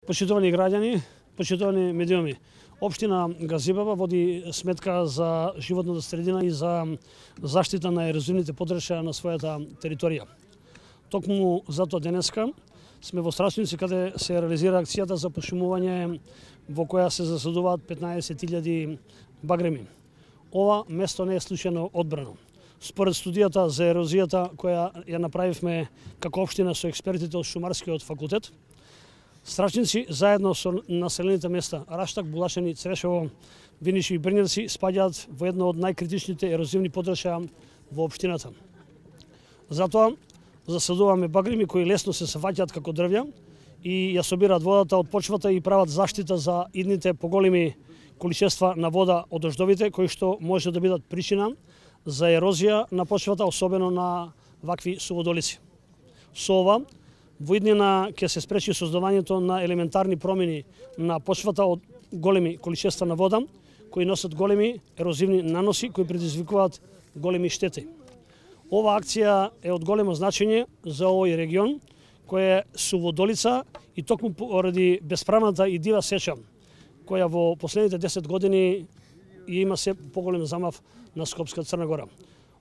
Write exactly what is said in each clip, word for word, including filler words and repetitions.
Почитувани граѓани, почитувани медиуми, општина Газибаба води сметка за животната средина и за заштита на ерозивните подршја на својата територија. Токму затоа денеска сме во Страчници каде се реализира акцијата за пошумување во која се засадуваат петнаесет илјади багреми. Ова место не е случајно одбрано. Според студијата за ерозијата која ја направивме како општина со експертите од Шумарскиот факултет, Страчници заедно со населените места Раштак, Булашани, Црешево, Виниши и Брњевци спаѓаат во едно од најкритичните ерозивни подршја во општината. Затоа засадуваме багреми кои лесно се сафаќаат како дрвја и ја собираат водата од почвата и прават заштита за идните поголеми количества на вода од дождовите кои што може да бидат причина за ерозија на почвата, особено на вакви суводолици. Со ова во иднина ќе се спречи создавањето на елементарни промени на почвата од големи количества на вода, кои носат големи ерозивни наноси, кои предизвикуваат големи штети. Ова акција е од големо значење за овој регион, кој е суводолица и токму поради бесправната и дива сеча, која во последните десет години има се поголем замав на Скопска Црна Гора.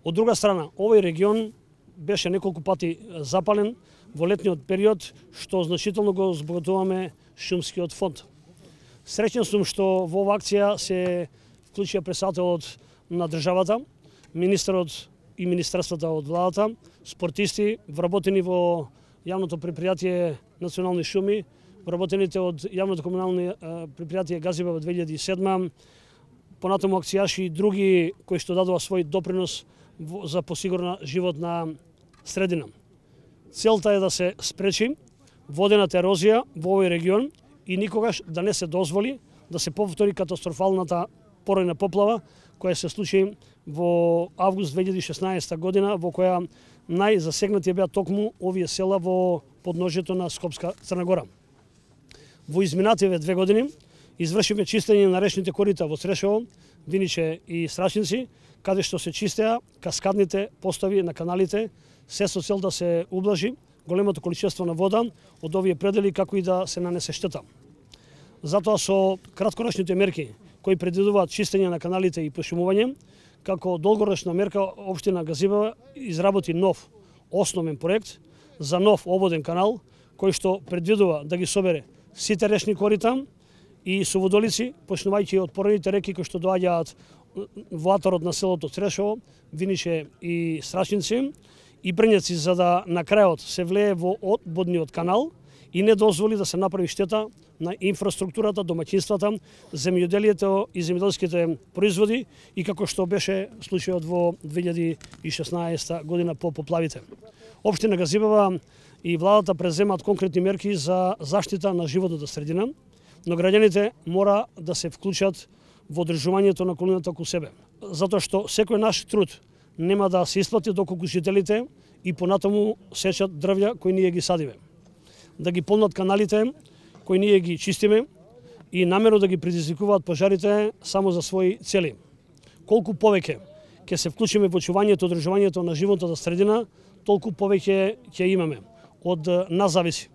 Од друга страна, овој регион беше неколку пати запален во летниот период, што значително го збогатуваме шумскиот фонд. Среќен сум што во оваа акција се вклучија председателот на државата, министерот и министерствата од владата, спортисти, вработени во јавното предпријатие Национални шуми, вработените од јавното комунално предпријатие Газибаба две илјади и седма, понатаму акцијаши и други кои што дадува свој допринос за посигурна животна средина. Целта е да се спречи водената ерозија во овој регион и никогаш да не се дозволи да се повтори катастрофалната поројна поплава која се случи во август две илјади и шеснаесета година, во која најзасегнати беа токму овие села во подножјето на Скопска Црна Гора. Во изминативе две години извршивме чистење на речните корита во Црешево, Виниче и Страчници, каде што се чистеа каскадните постави на каналите, се со цел да се ублажи големото количество на вода од овие предели, како и да се нанесе штета. Затоа со краткорочните мерки кои предвидуваат чистење на каналите и пошумување, како долгорочна мерка општина Газибаба изработи нов основен проект за нов обводен канал, кој што предвидува да ги собере сите речни корита и суводолици, почнувајќи од порените реки кои што доаѓаат во атарот на селото Црешево, Виниче и Страчници и Брњевци, за да на крајот се влее во одводниот канал и не дозволи да се направи штета на инфраструктурата, домаќинствата, земјоделието и земјоделските производи и како што беше случајот во две илјади и шеснаесета година по поплавите. Општина Газибаба и владата преземаат конкретни мерки за заштита на животната средина, но граѓаните мора да се вклучат во одржувањето на околината околу себе. Затоа што секој наш труд нема да се исплати доколку жителите и понатаму сечат дрвја кои ние ги садиме. Да ги полнат каналите кои ние ги чистиме и намерно да ги предизвикуваат пожарите само за своји цели. Колку повеќе ќе се вклучиме во очувањето и одржувањето на животната средина, толку повеќе ќе имаме. Од нас зависи